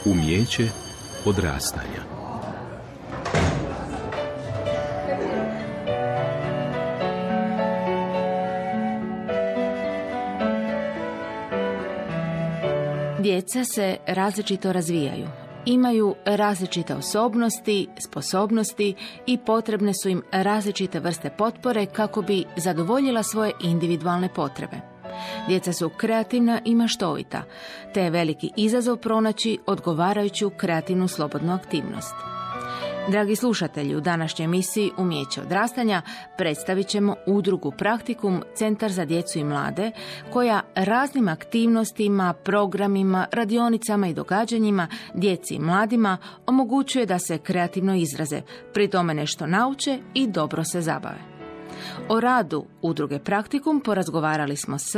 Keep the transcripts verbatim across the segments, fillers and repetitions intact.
Umijeće odrastanja. Djeca se različito razvijaju. Imaju različite osobnosti, sposobnosti i potrebne su im različite vrste potpore kako bi zadovoljila svoje individualne potrebe. Djeca su kreativna i maštovita, te je veliki izazov pronaći odgovarajuću kreativnu slobodnu aktivnost. Dragi slušatelji, u današnjoj emisiji Umijeće odrastanja predstavit ćemo udrugu Praktikum Centar za djecu i mlade, koja raznim aktivnostima, programima, radionicama i događanjima djeci i mladima omogućuje da se kreativno izraze, pri tome nešto nauče i dobro se zabave. O radu udruge Praktikum porazgovarali smo s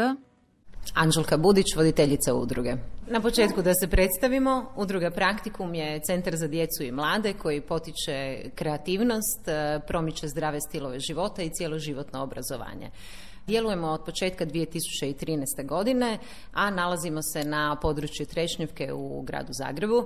Anđelka Budić, voditeljica udruge. Na početku da se predstavimo, udruga Praktikum je centar za djecu i mlade koji potiče kreativnost, promiče zdrave stilove života i cjeloživotno obrazovanje. Djelujemo od početka dvije tisuće trinaeste. godine, a nalazimo se na području Trešnjevke u gradu Zagrebu.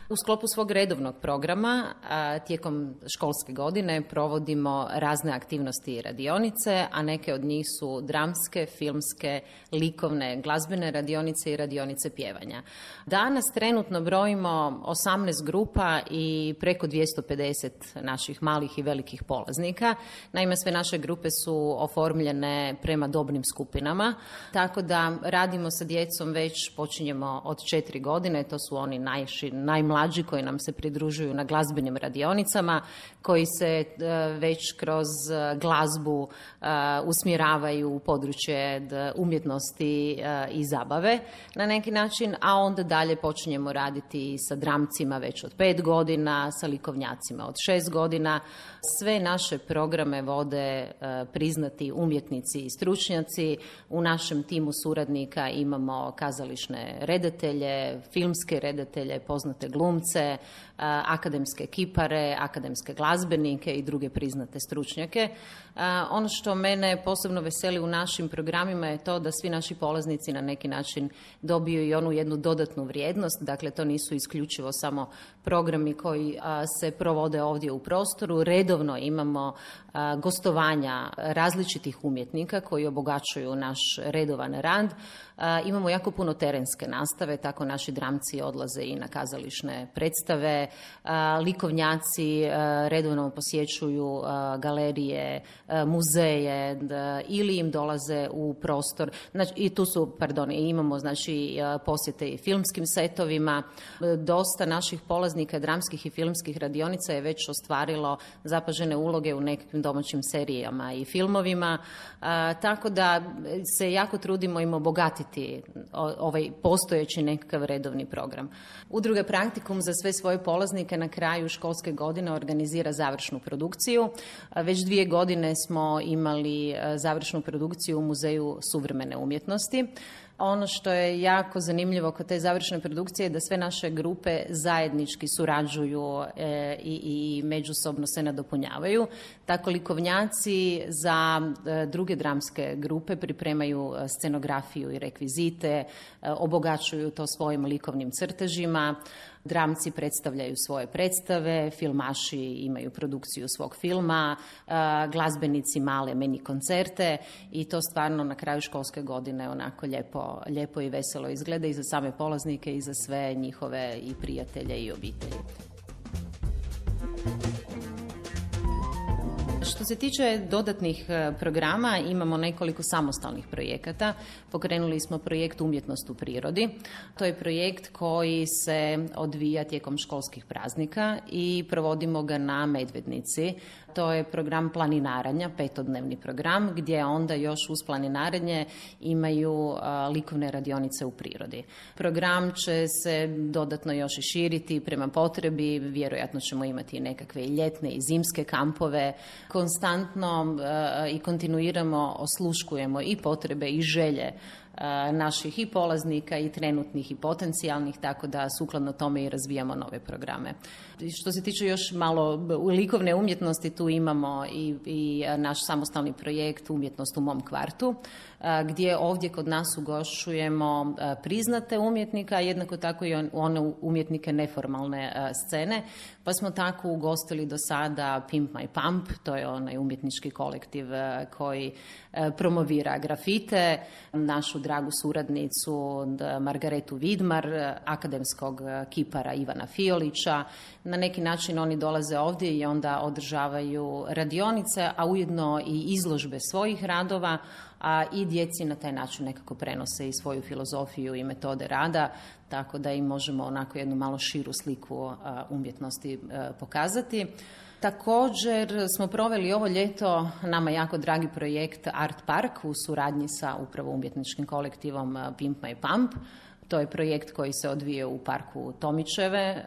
U sklopu svog redovnog programa a, tijekom školske godine provodimo razne aktivnosti i radionice, a neke od njih su dramske, filmske, likovne, glazbene radionice i radionice pjevanja. Danas trenutno brojimo osamnaest grupa i preko dvjesto pedeset naših malih i velikih polaznika. Naime, sve naše grupe su oformljene prema dobnim skupinama, tako da radimo sa djecom već počinjemo od četiri godine, to su oni najši, najmlađi koji nam se pridružuju na glazbenim radionicama, koji se već kroz glazbu usmjeravaju u područje umjetnosti i zabave na neki način, a onda dalje počinjemo raditi sa dramcima već od pet godina, sa likovnjacima od šest godina. Sve naše programe vode priznati umjetnici i stručnjaci. U našem timu suradnika imamo kazališne redatelje, filmske redatelje, poznate glumce, akademske kipare, akademske glazbenike i druge priznate stručnjake. Ono što mene posebno veseli u našim programima je to da svi naši polaznici na neki način dobiju i onu jednu dodatnu vrijednost. Dakle, to nisu isključivo samo programi koji se provode ovdje u prostoru. Redovno imamo gostovanja različitih umjetnika koji obogaćuju naš redovan rad. Imamo jako puno terenske nastave, tako naši dramci odlaze i na kazališne predstave. Likovnjaci redovno posjećuju galerije, muzeje ili im dolaze u prostor. Znači, i tu su, pardon, imamo znači posjete i filmskim setovima. Dosta naših polaznika dramskih i filmskih radionica je već ostvarilo zapažene uloge u nekakvim domaćim serijama i filmovima. Tako da se jako trudimo im obogatiti ovaj postojeći nekakav redovni program. Udruga Praktikum za sve svoje polaznike na kraju školske godine organizira završnu produkciju. Već dvije godine smo imali završnu produkciju u Muzeju suvremene umjetnosti. Ono što je jako zanimljivo kod te završne produkcije je da sve naše grupe zajednički surađuju e, i, i međusobno se nadopunjavaju. Tako likovnjaci za e, druge dramske grupe pripremaju scenografiju i rekvizite, e, obogaćuju to svojim likovnim crtežima. Dramci predstavljaju svoje predstave, filmaši imaju produkciju svog filma, glazbenici male mini koncerte i to stvarno na kraju školske godine onako lijepo, lijepo i veselo izgleda i za same polaznike i za sve njihove i prijatelje i obitelji. Što se tiče dodatnih programa, imamo nekoliko samostalnih projekata. Pokrenuli smo projekt Umjetnost u prirodi. To je projekt koji se odvija tijekom školskih praznika i provodimo ga na Medvednici. To je program planinaranja, petodnevni program, gdje onda još uz planinarenje imaju a, likovne radionice u prirodi. Program će se dodatno još i širiti prema potrebi, vjerojatno ćemo imati nekakve ljetne i zimske kampove. Konstantno a, i kontinuiramo osluškujemo i potrebe i želje naših i polaznika i trenutnih i potencijalnih, tako da sukladno tome i razvijamo nove programe. Što se tiče još malo likovne umjetnosti, tu imamo i, i naš samostalni projekt Umjetnost u mom kvartu, gdje ovdje kod nas ugošćujemo priznate umjetnika, jednako tako i one umjetnike neformalne scene, pa smo tako ugostili do sada Pimp My Pump, to je onaj umjetnički kolektiv koji promovira grafite, našu dragu suradnicu Margaretu Vidmar, akademskog kipara Ivana Fiolića. Na neki način oni dolaze ovdje i onda održavaju radionice, a ujedno i izložbe svojih radova, a i djeci na taj način nekako prenose i svoju filozofiju i metode rada, tako da im možemo onako jednu malo širu sliku umjetnosti pokazati. Također smo proveli ovo ljeto nama jako dragi projekt Art Park u suradnji sa upravo umjetničkim kolektivom Pimp My Pump. To je projekt koji se odvije u parku Tomićeve,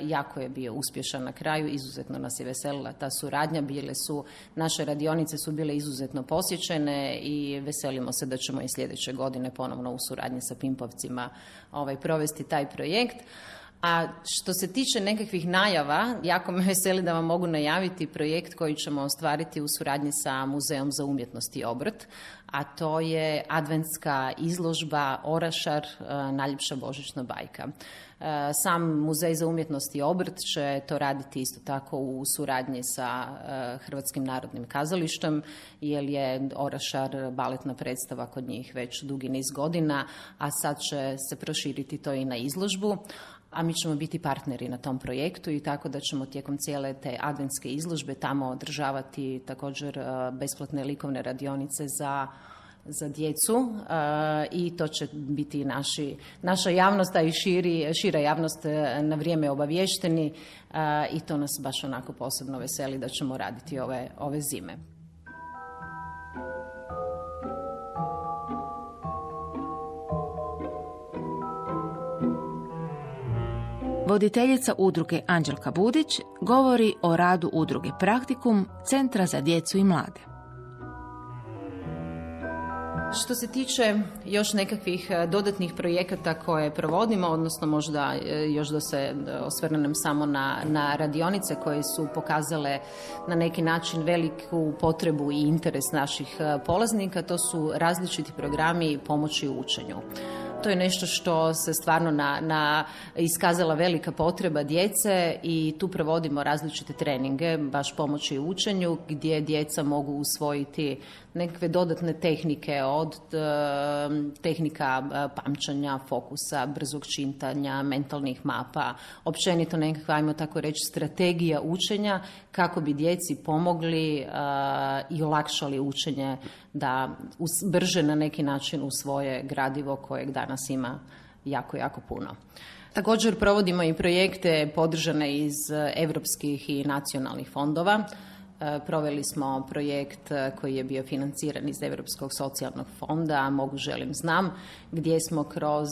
jako je bio uspješan na kraju, izuzetno nas je veselila ta suradnja, bile su, naše radionice su bile izuzetno posjećene i veselimo se da ćemo i sljedeće godine ponovno u suradnji sa Pimpovcima ovaj, provesti taj projekt. A što se tiče nekakvih najava, jako me veseli da vam mogu najaviti projekt koji ćemo ostvariti u suradnji sa Muzejom za umjetnost i obrt, a to je adventska izložba Orašar, najljepša božićna bajka. Sam Muzej za umjetnost i obrt će to raditi isto tako u suradnji sa Hrvatskim narodnim kazalištem, jer je Orašar baletna predstava kod njih već dugi niz godina, a sad će se proširiti to i na izložbu. A mi ćemo biti partneri na tom projektu i tako da ćemo tijekom cijele te adventske izložbe tamo održavati također besplatne likovne radionice za, za djecu i to će biti naši, naša javnost, a i širi, šira javnost na vrijeme obavješteni i to nas baš onako posebno veseli da ćemo raditi ove, ove zime. Voditeljica udruge Anđelka Budić govori o radu udruge Praktikum, Centra za djecu i mlade. Što se tiče još nekakvih dodatnih projekata koje provodimo, odnosno možda još da se osvrnem samo na, na radionice koje su pokazale na neki način veliku potrebu i interes naših polaznika, to su različiti programi pomoći u učenju. To je nešto što se stvarno na, na iskazala velika potreba djece i tu provodimo različite treninge, baš pomoći u učenju, gdje djeca mogu usvojiti nekakve dodatne tehnike od e, tehnika pamćenja, fokusa, brzog čitanja, mentalnih mapa, općenito nekakva, ajmo tako reći, strategija učenja kako bi djeci pomogli e, i olakšali učenje da us, brže na neki način usvoje gradivo kojeg danas ima jako, jako puno. Također provodimo i projekte podržane iz europskih i nacionalnih fondova. Proveli smo projekt koji je bio financiran iz Europskog socijalnog fonda Mogu, želim, znam, gdje smo kroz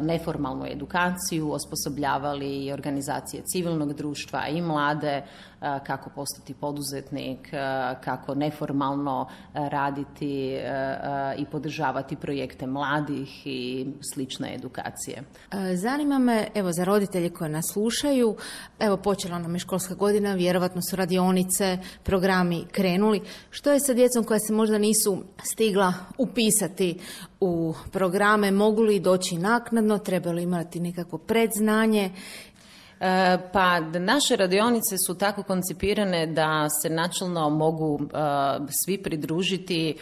neformalnu edukaciju osposobljavali i organizacije civilnog društva i mlade kako postati poduzetnik, kako neformalno raditi i podržavati projekte mladih i slične edukacije. Zanima me, evo, za roditelje koji nas slušaju, evo, počela nam je školska godina, vjerovatno su radionice, programi krenuli. Što je sa djecom koja se možda nisu stigla upisati u programe, mogu li doći naknadno, trebaju li imati nekakvo predznanje? Pa naše radionice su tako koncipirane da se načelno mogu uh, svi pridružiti,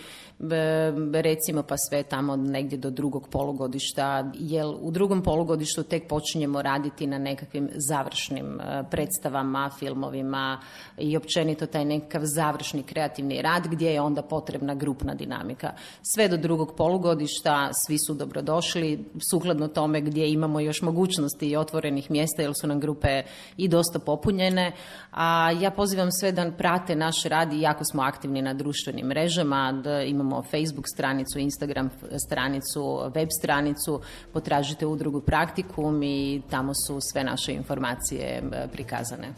recimo pa sve tamo negdje do drugog polugodišta, jer u drugom polugodištu tek počinjemo raditi na nekakvim završnim predstavama, filmovima i općenito taj nekakav završni kreativni rad gdje je onda potrebna grupna dinamika. Sve do drugog polugodišta svi su dobrodošli, sukladno tome gdje imamo još mogućnosti i otvorenih mjesta jer su nam grupe i dosta popunjene, a ja pozivam sve da prate naš rad i jako smo aktivni na društvenim mrežama, da imamo Facebook stranicu, Instagram stranicu, web stranicu, potražite udrugu Praktikum i tamo su sve naše informacije prikazane.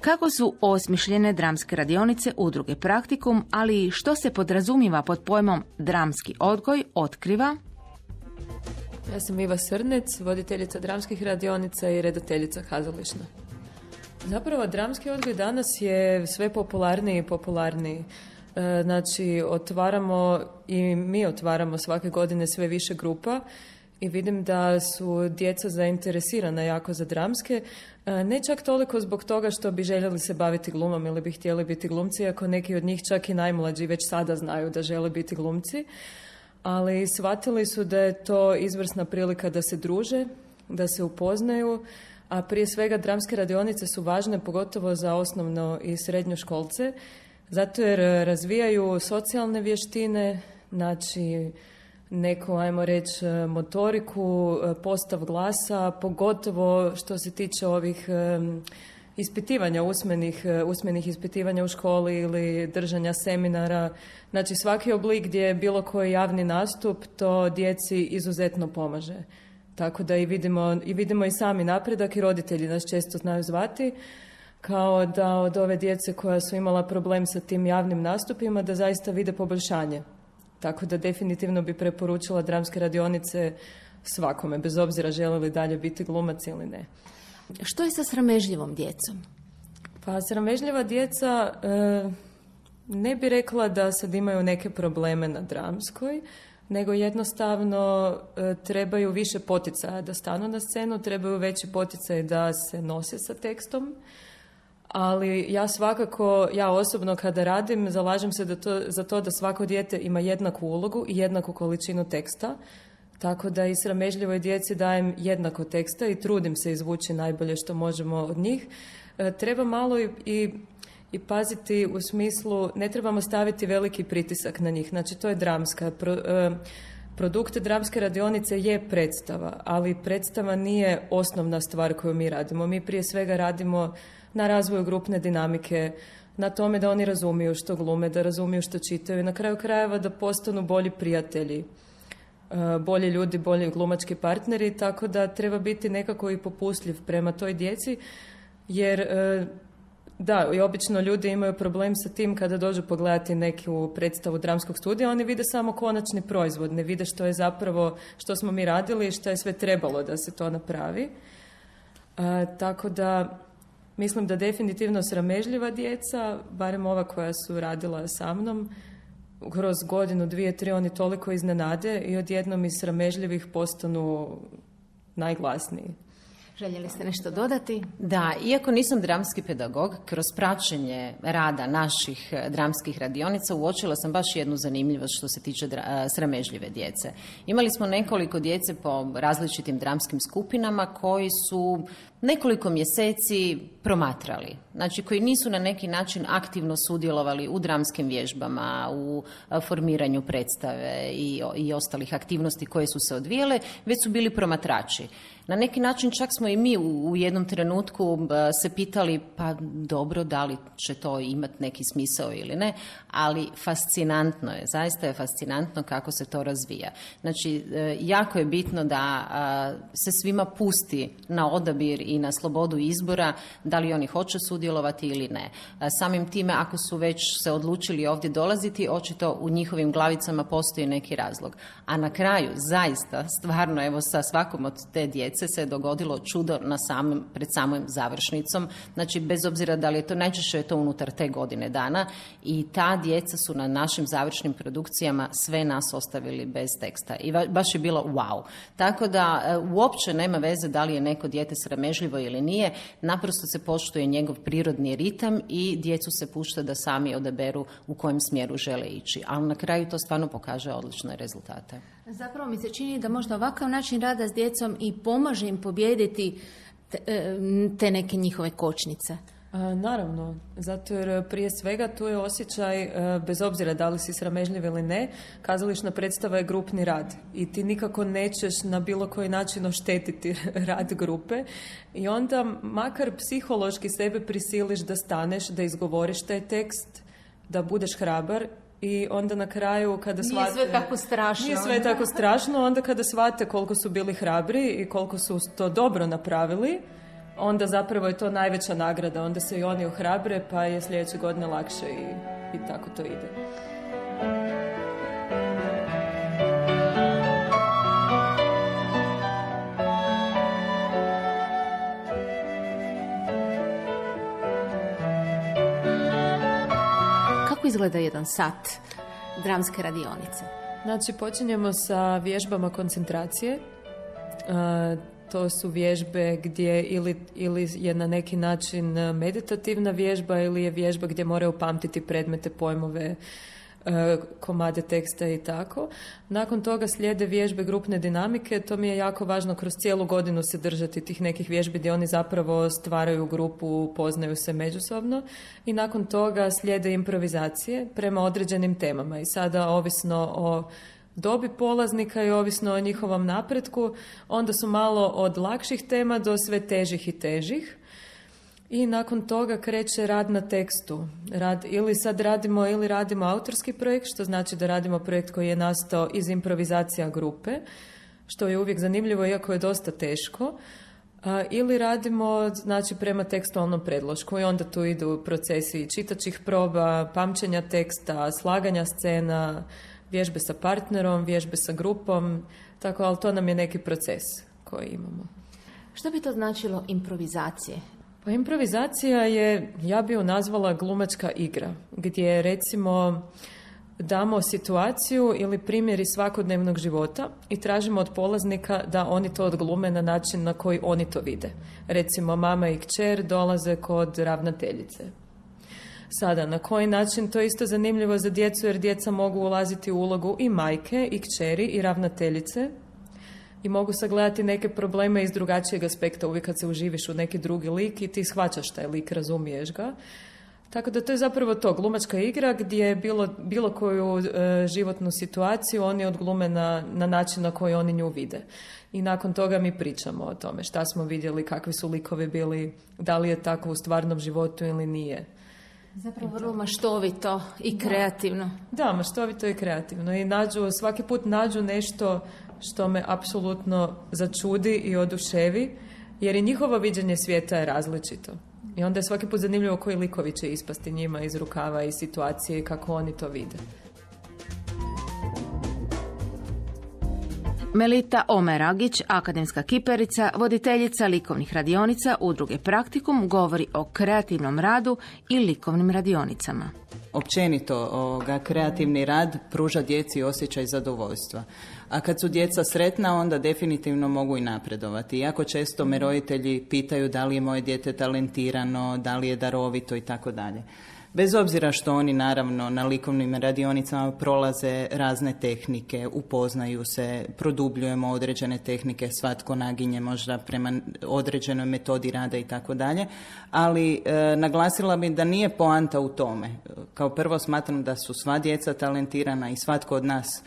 Kako su osmišljene dramske radionice udruge Praktikum, ali i što se podrazumijeva pod pojmom dramski odgoj, otkriva Ja sam Iva Srnec, voditeljica dramskih radionica i redateljica kazališna. Zapravo, dramski odgoj danas je sve popularniji i popularniji. E, znači, otvaramo i mi otvaramo svake godine sve više grupa i vidim da su djeca zainteresirana jako za dramske. E, ne čak toliko zbog toga što bi željeli se baviti glumom ili bi htjeli biti glumci, ako neki od njih, čak i najmlađi, već sada znaju da žele biti glumci. Ali shvatili su da je to izvrsna prilika da se druže, da se upoznaju, a prije svega dramske radionice su važne pogotovo za osnovno i srednju školce, zato jer razvijaju socijalne vještine, znači neku, ajmo reći, motoriku, postav glasa, pogotovo što se tiče ovih ispitivanja, usmenih, usmenih ispitivanja u školi ili držanja seminara. Znači svaki oblik gdje je bilo koji javni nastup, to djeci izuzetno pomaže. Tako da i vidimo, i vidimo i sami napredak i roditelji nas često znaju zvati kao da od ove djece koja su imala problem sa tim javnim nastupima da zaista vide poboljšanje. Tako da definitivno bi preporučila dramske radionice svakome, bez obzira žele li dalje biti glumac ili ne. Što je sa sramežljivom djecom? Pa sramežljiva djeca, e, ne bi rekla da sad imaju neke probleme na dramskoj, nego jednostavno e, trebaju više poticaja da stanu na scenu, trebaju veći poticaj da se nose sa tekstom, ali ja svakako, ja osobno kada radim, zalažem se da to, za to da svako dijete ima jednaku ulogu i jednaku količinu teksta, tako da i sramežljivoj djeci dajem jednako teksta i trudim se izvući najbolje što možemo od njih. E, treba malo i, i, i paziti u smislu, ne trebamo staviti veliki pritisak na njih. Znači, to je dramska. Pro, e, produkt dramske radionice je predstava, ali predstava nije osnovna stvar koju mi radimo. Mi prije svega radimo na razvoju grupne dinamike, na tome da oni razumiju što glume, da razumiju što čitaju i na kraju krajeva da postanu bolji prijatelji, bolji ljudi, bolji glumački partneri, tako da treba biti nekako i popustljiv prema toj djeci, jer da, i obično ljudi imaju problem sa tim kada dođu pogledati neku predstavu dramskog studija, oni vide samo konačni proizvod, ne vide što je zapravo, što smo mi radili i što je sve trebalo da se to napravi. A, tako da mislim da definitivno sramežljiva djeca, barem ova koja su radila sa mnom, kroz godinu, dvije, tri, oni toliko iznenade i odjednom iz sramežljivih postanu najglasniji. Željeli ste nešto dodati? Da, iako nisam dramski pedagog, kroz praćenje rada naših dramskih radionica uočila sam baš jednu zanimljivost što se tiče dra- sramežljive djece. Imali smo nekoliko djece po različitim dramskim skupinama koji su nekoliko mjeseci promatrali, znači koji nisu na neki način aktivno sudjelovali u dramskim vježbama, u formiranju predstave i, i ostalih aktivnosti koje su se odvijele, već su bili promatrači. Na neki način čak smo i mi u, u jednom trenutku se pitali, pa dobro, da li će to imati neki smisao ili ne, ali fascinantno je, zaista je fascinantno kako se to razvija. Znači, jako je bitno da se svima pusti na odabir i na slobodu izbora, da li oni hoće sudjelovati ili ne. Samim time, ako su već se odlučili ovdje dolaziti, očito u njihovim glavicama postoji neki razlog. A na kraju, zaista, stvarno, evo sa svakom od te djece se je dogodilo čudo na samim, pred samom završnicom. Znači, bez obzira da li je to, najčešće je to unutar te godine dana i ta djeca su na našim završnim produkcijama sve nas ostavili bez teksta. I baš je bilo wow. Tako da uopće nema veze da li je neko dijete sramežljivo ili nije, naprosto se poštuje njegov prirodni ritam i djecu se pušta da sami odaberu u kojem smjeru žele ići. Ali na kraju to stvarno pokaže odlične rezultate. Zapravo mi se čini da možda ovakav način rada s djecom i pomaže im pobijediti te, te neke njihove kočnice. A, naravno, zato jer prije svega tu je osjećaj, bez obzira da li si sramežljiv ili ne, kazališna predstava je grupni rad i ti nikako nećeš na bilo koji način oštetiti rad grupe i onda makar psihološki sebe prisiliš da staneš, da izgovoriš taj tekst, da budeš hrabar. I onda na kraju kada shvate... Nije sve tako strašno. Nije sve tako strašno, onda kada shvate koliko su bili hrabri i koliko su to dobro napravili, onda zapravo je to najveća nagrada, onda se i oni ohrabre, pa je sljedeće godine lakše i, i tako to ide. Kako izgleda jedan sat dramske radionice? Znači, počinjemo sa vježbama koncentracije. Uh, to su vježbe gdje ili, ili je na neki način meditativna vježba ili je vježba gdje moraju pamtiti predmete, pojmove, uh, komade teksta i tako. Nakon toga slijede vježbe grupne dinamike. To mi je jako važno kroz cijelu godinu se držati tih nekih vježbi gdje oni zapravo stvaraju grupu, poznaju se međusobno. I nakon toga slijede improvizacije prema određenim temama. I sada, ovisno o dobi polaznika i ovisno o njihovom napretku, onda su malo od lakših tema do sve težih i težih. I nakon toga kreće rad na tekstu. Rad, ili sad radimo ili radimo autorski projekt, što znači da radimo projekt koji je nastao iz improvizacija grupe, što je uvijek zanimljivo iako je dosta teško. A, ili radimo, znači, prema tekstualnom predlošku i onda tu idu procesi čitačih proba, pamćenja teksta, slaganja scena, vježbe sa partnerom, vježbe sa grupom, tako, ali to nam je neki proces koji imamo. Što bi to značilo improvizacije? Pa improvizacija je, ja bi ju nazvala glumačka igra, gdje recimo damo situaciju ili primjer iz svakodnevnog života i tražimo od polaznika da oni to odglume na način na koji oni to vide. Recimo, mama i kćer dolaze kod ravnateljice. Sada, na koji način, to je isto zanimljivo za djecu jer djeca mogu ulaziti u ulogu i majke, i kćeri, i ravnateljice i mogu sagledati neke probleme iz drugačijeg aspekta. Uvijek kad se uživiš u neki drugi lik i ti shvaćaš taj lik, razumiješ ga. Tako da to je zapravo to, glumačka igra gdje bilo, bilo koju e, životnu situaciju oni odglume na, na način na koji oni nju vide. I nakon toga mi pričamo o tome šta smo vidjeli, kakvi su likovi bili, da li je tako u stvarnom životu ili nije. Zapravo vrlo maštovito i kreativno. Da, da, maštovito i kreativno. I nađu, svaki put nađu nešto što me apsolutno začudi i oduševi, jer i njihovo viđenje svijeta je različito. I onda je svaki put zanimljivo koji likovi će ispasti njima iz rukava i situacije i kako oni to vide. Melita Omeragić, akademska kiperica, voditeljica likovnih radionica Udruge Praktikum, govori o kreativnom radu i likovnim radionicama. Općenito, ovoga, kreativni rad pruža djeci osjećaj zadovoljstva. A kad su djeca sretna, onda definitivno mogu i napredovati. Jako često me roditelji pitaju da li je moje dijete talentirano, da li je darovito i tako dalje. Bez obzira što oni naravno na likovnim radionicama prolaze razne tehnike, upoznaju se, produbljujemo određene tehnike, svatko naginje možda prema određenoj metodi rada i tako dalje, ali e, naglasila bi da nije poanta u tome. Kao prvo smatram da su sva djeca talentirana i svatko od nas,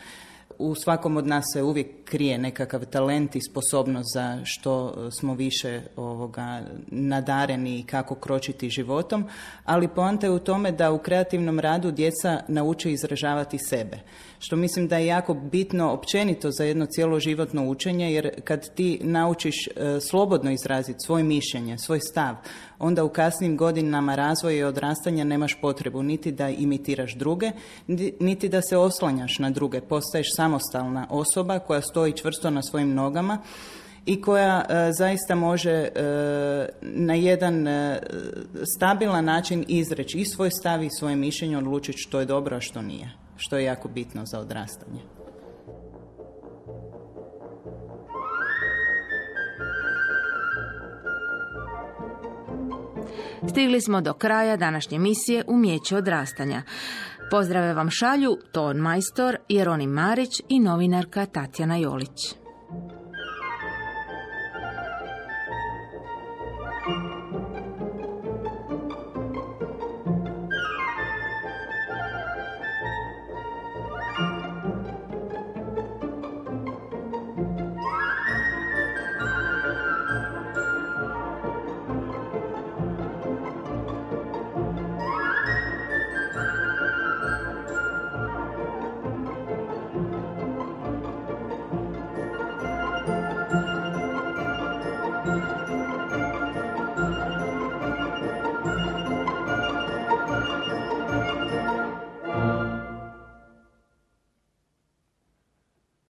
u svakom od nas se uvijek krije nekakav talent i sposobnost za što smo više ovoga nadareni i kako kročiti životom, ali poanta je u tome da u kreativnom radu djeca nauče izražavati sebe, što mislim da je jako bitno općenito za jedno cjeloživotno učenje, jer kad ti naučiš e, slobodno izraziti svoje mišljenje, svoj stav, onda u kasnim godinama razvoja i odrastanja nemaš potrebu niti da imitiraš druge, niti da se oslanjaš na druge. Postaješ samostalna osoba koja stoji čvrsto na svojim nogama i koja e, zaista može e, na jedan e, stabilan način izreći i svoj stav i svoje mišljenje, odlučiti što je dobro, a što nije, što je jako bitno za odrastanje. Stigli smo do kraja današnje emisije Umijeće odrastanja. Pozdrave vam šalju ton majstor Jeronim Marić i novinarka Tatjana Jolić.